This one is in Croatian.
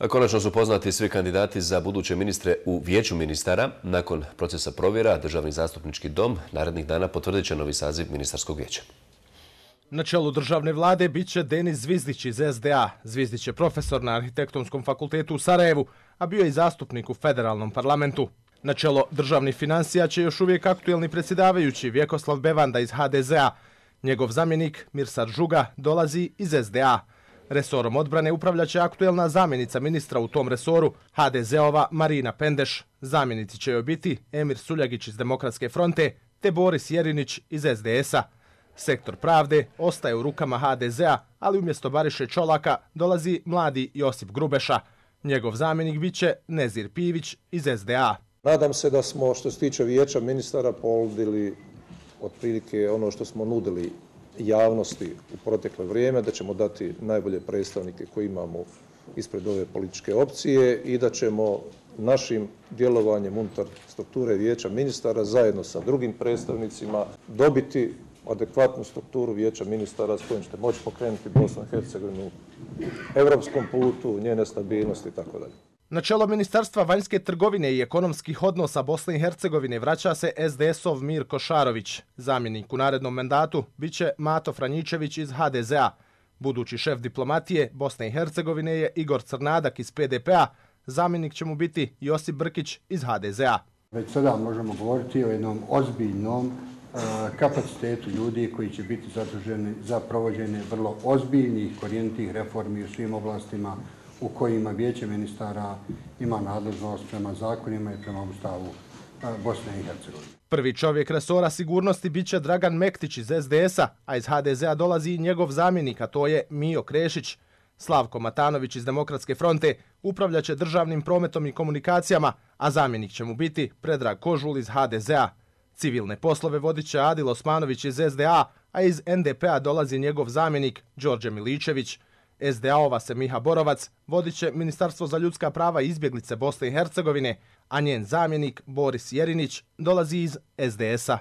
Konačno su poznati svi kandidati za buduće ministre u Vijeću ministara. Nakon procesa provjera, Državni zastupnički dom narednih dana potvrdit će novi saziv ministarskog vijeća. Na čelu državne vlade bit će Denis Zvizdić iz SDA. Zvizdić je profesor na Arhitektonskom fakultetu u Sarajevu, a bio je i zastupnik u federalnom parlamentu. Na čelo državnih financija će još uvijek aktuelni predsjedavajući Vjekoslav Bevanda iz HDZ-a. Njegov zamjenik Mirsad Žuga dolazi iz SDA. Resorom odbrane upravljaće aktuelna zamjenica ministra u tom resoru, HDZ-ova Marina Pendeš. Zamjenici će joj biti Emir Suljagić iz Demokratske fronte te Boris Jerinić iz SDS-a. Sektor pravde ostaje u rukama HDZ-a, ali umjesto Bariše Čolaka dolazi mladi Josip Grubeša. Njegov zamjenik biće Nezir Pivić iz SDA. Nadam se da smo, što se tiče vijeća ministara, ponudili otprilike ono što smo nudili javnosti u proteklo vrijeme, da ćemo dati najbolje predstavnike koje imamo ispred ove političke opcije i da ćemo našim djelovanjem unutar strukture vijeća ministara zajedno sa drugim predstavnicima dobiti adekvatnu strukturu vijeća ministara s kojim ćete moći pokrenuti Bosnu i Hercegovinu europskom putu, njene stabilnosti itd. Na čelo Ministarstva vanjske trgovine i ekonomskih odnosa Bosne i Hercegovine vraća se SDS-ov Mirko Šarović. Zamjenik u narednom mandatu biće Mato Franjičević iz HDZ-a. Budući šef diplomatije Bosne i Hercegovine je Igor Crnadak iz PDP-a. Zamjenik će mu biti Josip Brkić iz HDZ-a. Već sada možemo govoriti o jednom ozbiljnom kapacitetu ljudi koji će biti zaduženi za provođenje vrlo ozbiljnih korijenitih reformi u svim oblastima u kojima vijeće ministara ima nadležnost prema zakonima i prema Ustavu Bosne i Hercegovine. Prvi čovjek resora sigurnosti biće Dragan Mektić iz SDS-a, a iz HDZ-a dolazi i njegov zamjenik, a to je Mijo Krešić. Slavko Matanović iz Demokratske fronte upravljaće državnim prometom i komunikacijama, a zamjenik će mu biti Predrag Kožul iz HDZ-a. Civilne poslove vodit će Adil Osmanović iz SDA, a iz NDP-a dolazi njegov zamjenik Đorđe Miličević. SDA-ova se Miha Borovac vodit će Ministarstvo za ljudska prava i izbjeglice Bosne i Hercegovine, a njen zamjenik Boris Jerinić dolazi iz SDS-a.